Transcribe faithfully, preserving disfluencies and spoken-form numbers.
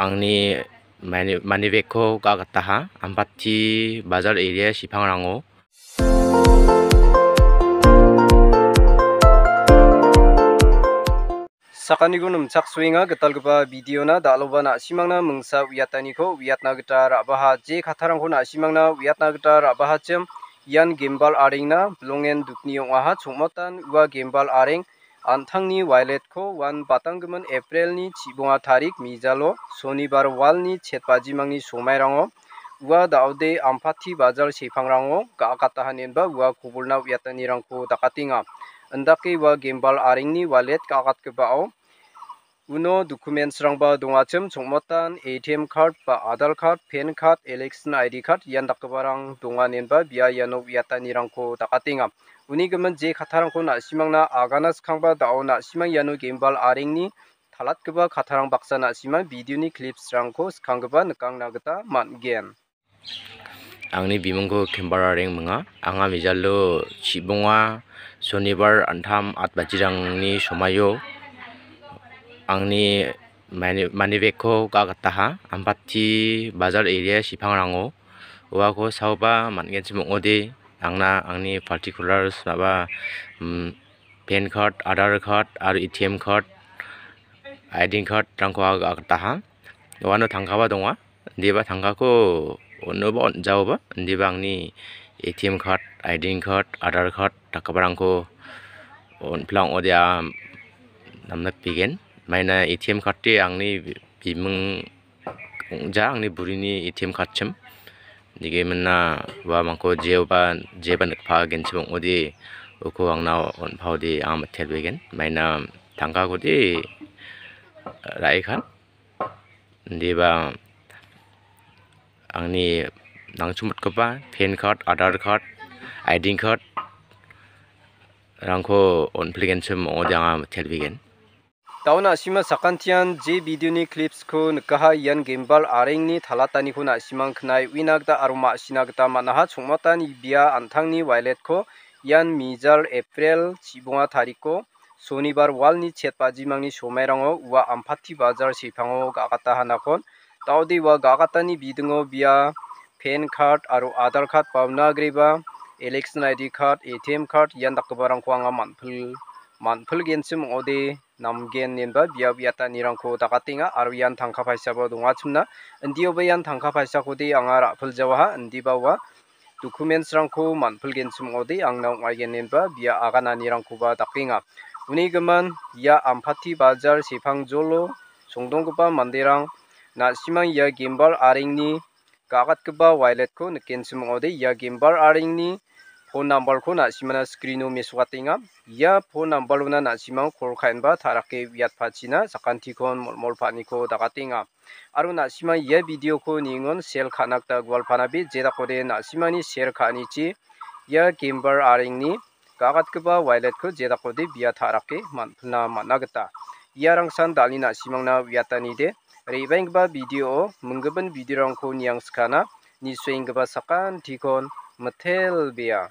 Angni mani-, money bag-ko ga·gataha, Ampati Bazar area Sipangrango. Sakaniko nimchaksoenga gitalgipa video-na, dal·oba na·simangna mingsa uiataniko uiatna gita ra·baha. Je kattarangko na·simangna uiatna gita ra·bahachim, ian gembal arengna bilongen dukni ong·aha. Chongmotan ua gembal areng an·tangni wallet-ko uan batanggimin April-ni chibonga tarik mijalo, sonibar walni chet bajimangni somairango, ua da·ode Ampati Bazar Sipangrango ga·akataha inenba ua kobolna uiatanirangko dakatenga. Indake ua gembal arengni wallet ga·akatgipao uno documents-rangba dongachim, chongmotan A T M card ba Aadhaar card, PAN card, election I D card ian dakgiparang donga inenba bia iano uiatanirangko dakatenga. Uni gimin je kattarangko na·simangna agana skangba da·o na·simang iano gembal arengni talatgipa kattarang baksa na·simang video-ni clips-rangko skanggipa nikangna gita man·gen. Angni bimungko Kembar Areng minga. Anga mijalo chibonga sonibar an·tam at bajirangni somaio angni mani-, money bag-ko ga·gataha, Ampati Bazar area Sipangrango. Uako saoba man·genchim ong·ode, angna angni particulars aba, mm, PAN card, Aadhaar card aro A T M card, I D card-rangko ga·gataha. Uano tangkaba donga. Indiba tangkako on·oba on·jaoba, indiba angni A T M card, I D card, Aadhaar card dakgiparangko on·pila ong·ode, a, namnatbegen. Maina A T M card-de angni bimung ong·ja, angni burini A T M card-chim. Nige mina uamangko jeoba, jeba nikpagenchim ong·ode, uko angna on·paode anga mitelbegen. Maina tangkakode ra·e kan. Indiba angni nangchimotgipa PAN card, Aadhaar card, I D card-rangko on·pilgenchim ong·ode anga mitelbegen. Da·o na·sima sakantian je video-ni clips-ko nikaha, ian gembal arengni talataniko na·simang knae uina gita aro ma·sina gita man·aha. Chongmatan bia an·tangni wallet-ko ian mijal April chibonga tariko sonibar walni chet bajimangni somairango ua Ampati Bazar Sepango ga·gata hanakon. Da·ode ua ga·gatani bidingo bia PAN card aro Aadhaar card ba una agreba election I D card, A T M card ian dakgiparangko anga man·pil-, man·pilgenchim ong·ode namgen inenba bia uiatanirangko dakatenga aro ian tangka paisaba dongachimna. Indioba ian tangka paisakode anga ra·piljawaha, indiba ua documents-rangko man·pilgenchim ong·ode angna ong·aigen inenba bia agananirangkoba dakenga. Uni gimin ia Ampati Bazar Sepangjolo songdonggipa manderang na·simang ia gembal arengni ga·gatgipa wallet-ko nikenchim ong·ode, ia gembal arengni phone number-ko na·simana screen-o mesokatenga. Ia phone number-ona na·simang call ka·enba ta·rake uiatpachina sakantikon molmol pa·aniko dakatenga. Aro na·sima ia video-ko ningon share ka·na gita gualpanabe, jedakode na·simani share ka·anichi ia gembal arengni ga·gatgipa wallet-ko jedakode bia ta·rake man-, pilna man·a gita. Iarangsan dal·e na·simangna uiatanide, re·baenggipa video-o minggipin video-rangko niangskana, nisoenggipa sakantikon mitelbea.